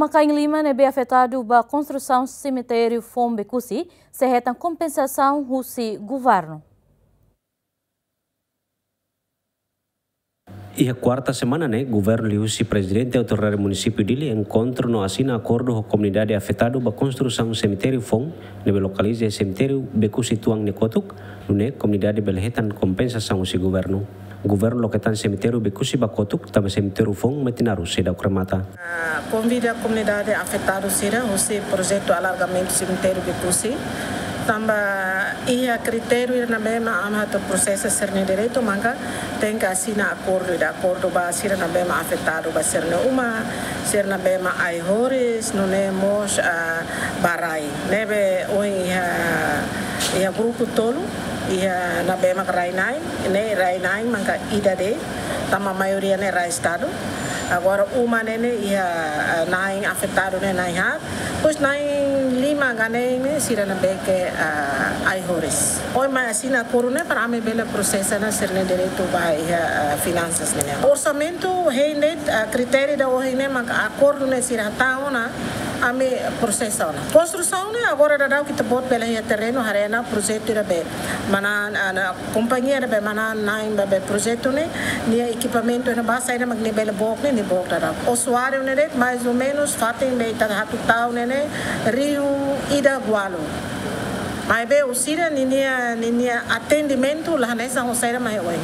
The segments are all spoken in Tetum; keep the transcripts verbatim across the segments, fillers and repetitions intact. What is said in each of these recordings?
Uma-kain lima ne'ebé afetadu ba konstrusaun semitériu foun Becusse sei hetan kompensasaun husi governu. Iha kuarta semana ne'e, governu liuhusi Prezidente Autoridade Munisípiu Dili enkontru no asina akordu ho komunidade afetadu ba konstrusaun semitériu foun ne'ebé lokaliza iha semitériu Becusse tuan nia kotuk, nune'e komunidade bele hetan kompensasaun husi governu. Governu loke tan semitériu Becusse ba kotuk, tanba semitériu foun Metinaro seidauk remata. Ah, konvida komunidade afetadu sira husi projetu alargamentu semitériu Becusse. Tanba iha kritériu ida ne'ebé mak ami atu prosesa sira-nia direitu, maka tenke asina akordu, ida akordu ba sira ne'ebé mak afetadu ba sira-nia uma, sira ne'ebé mak ai-horis, nune'e mós, ah, ba rai. Ne'ebé ohin iha, iha grupu tolu, iha ne'ebé mak rai-na'in, ne'e rai-na'in maka ida de'it, tanba maioria ne'e rai Estadu. Agora uma ne'e ne'e iha, ah, na'in afetadu ne'e na'in haat. Depois na'in lima gane ne'e sira ne'ebé ke, ah, ai-horis. Ohin mai asina akordu ne'e para ami bele prosesa ona sira-nia direitu ba iha, ah, finansas ne'e. Orsamentu hein de'it, ah, kritériu ida ohin ne'e maka akordu ne'e sira hatán ona, ami prosesa ona. Konstrusaun ne'e agora daudaun ita-boot bele iha terrenu haree ona projetu ida be mana, ah, na kompañia ida be manán-na'in ba be projetu ne'e, nia ekipamentu ne'e ba saida mak nia bele book ne'e, nia book daudaun. Usuáriu ne'e de'it mais ou menus fatin be ita atu tau ne'e ne'e rihun ida ualu. Maibé husi sira ninia, ninia atendimentu la hanesan ho saida mak iha oin.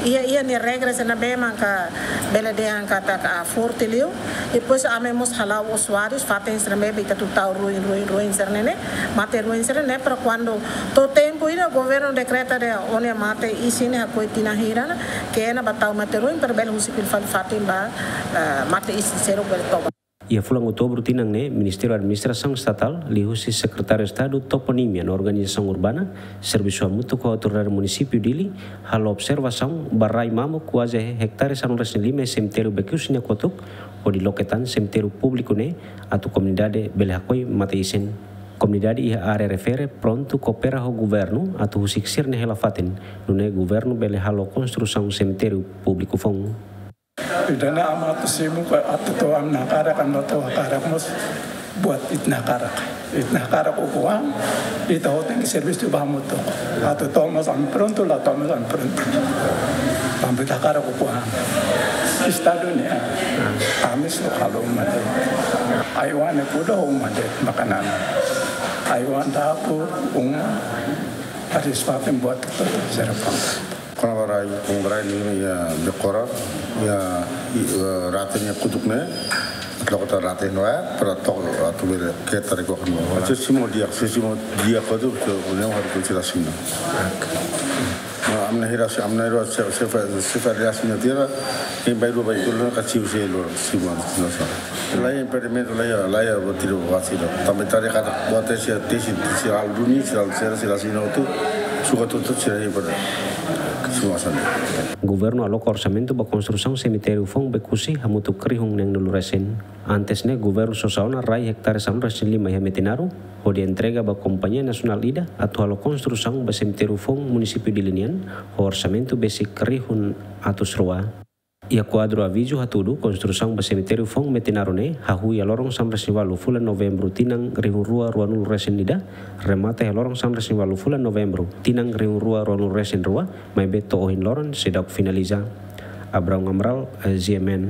Iha, iha nia regras ne'ebé maka bele dehan katak forte liu. Depois ami mós hala'o usuárius, fatin sira ne'ebé ita atu tau ruin, ruin, ruin sira ne'e ne'e, mate ruin sira ne'e, para kuandu to'o tempu ida governu dekreta dehan ó-nia mate isin ne'e hakoi tinan hira ona, ke ona ba tau mate ruin, para bele husi fila fali fatin ba, eh, mate isin seluk bele toba. Iha fulan Outubru tinan ne'e, Ministériu Administrasaun Estatál, liuhusi Sekretáriu Estadu Toponímia no Organizasaun Urbana, servisu hamutuk ho Autoridade Munisípiu Dili, halo observasaun ba rai mamuk kuaze hektare sanulu-resin-lima semitériu Becusse nia kotuk, hodi loke tan semitériu públiku ne'e, atu komunidade bele hakoi mate isin. Komunidade iha área refere prontu koopera ho governu atu husik sira-nia hela-fatin, nune'e governu bele halo konstrusaun semitériu públiku foun. Ida-ne'e ami atu simu ka atu to'o ami-nia hakarak ka atu to'o hakarak mós buat ita-nia hakarak. Ita-nia hakarak ukun-an, ita hotu tenke servisu ba hamutuk. Atu to'o mós ami prontu, la to'o mós ami prontu. Tanba ita hakarak ukun-an. Estadu ne'e, ami só halo uma de'it. Ai-oan ne'e kuda uma de'it makanan. Ai-oan dapur, uma, harus pakai buat kita serapang. Kona-ba rai, kona-ba rai ne'e iha dekora, iha, i, eh, rate nia kotuk ne'e, atu loke tan rate ne'e, para tok, atu bele ketar ko kan. Atu simu di'ak, se simu di'ak kotuk, atu ne'e harus ko sira simu. Ami-nia hira, ami-nia hira, se, se, se, se, tierra, imi bá rua bá ikul, ka simu se lo, simu, no sa. Laiha impedimentu, laiha, laiha buat ida, buat ida. Tanba ita haree katak buat ida sira, sira, sira halo duni, sira halo sira, sira asina hotu, sukat hotu sira iha pada semua sana. Governu aloka orsamentu ba konstrusaun semitériu foun Becusse hamutuk rihun neen-nulu resin. Antes ne'e, governu sosa ona rai hektare sanulu-resin-lima iha Metinaro, hodi entrega ba kompañia nasionál ida atu halo konstrusaun ba semitériu foun Munisípiu Dili nian, ho orsamentu besik rihun atus rua. Iha kuadru avizu hatudu, konstrusaun ba semitériu foun Metinaro ne'e hahú iha loron sanulu-resin-ualu fulan Novembru tinan rihun rua ruanulu-resin-ida, remata iha loron sanulu-resin-ualu fulan Novembru tinan rihun rua ruanulu-resin-rua, maibé to'o ohin loron seidauk finaliza. Abraão Amaral, eh, G M N.